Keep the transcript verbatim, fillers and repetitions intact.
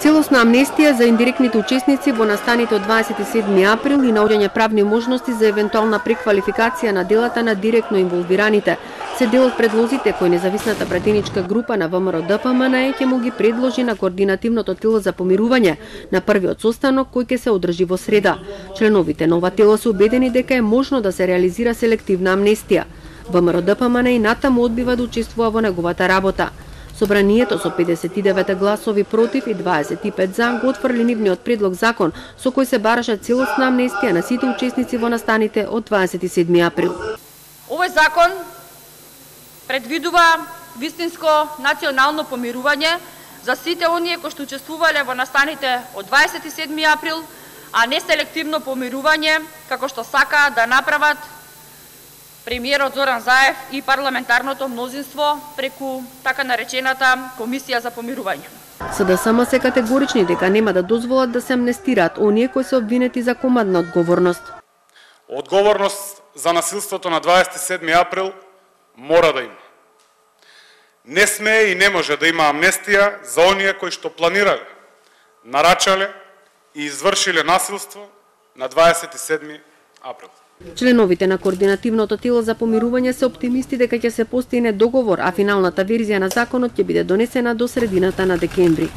Целосна амнестија за индиректните учесници во настаните од дваесет и седми април и наоѓање правни можности за евентуална преквалификација на делата на директно инволвираните се дел од предлозите кои независната пратеничка група на ВМРО-ДПМН ќе му ги предложи на координативното тело за помирување на првиот состанок кој ќе се одржи во среда. Членовите на ова тело се убедени дека е можно да се реализира селективна амнестија. ВМРО-ДПМН и натаму одбива да учествува во неговата работа. Собранието со педесет и девет гласови против и дваесет и пет за го отфрли нивниот предлог закон со кој се бараше целосна амнестија на сите учесници во настаните од дваесет и седми април. Овој закон предвидува вистинско национално помирување за сите оние кои што учествувале во настаните од дваесет и седми април, а не селективно помирување како што сака да направат премиерот Зоран Заев и парламентарното мнозинство преку така наречената Комисија за помирување. СДСМ се категорични дека нема да дозволат да се амнестираат оние кои се обвинети за командна одговорност. Одговорност за насилството на дваесет и седми април мора да има. Не смее и не може да има амнестија за оние кои што планирале, нарачале и извршиле насилство на дваесет и седми април. Членовите на координативното тело за помирување се оптимисти дека ќе се постигне договор, а финалната верзија на законот ќе биде донесена до средината на декември.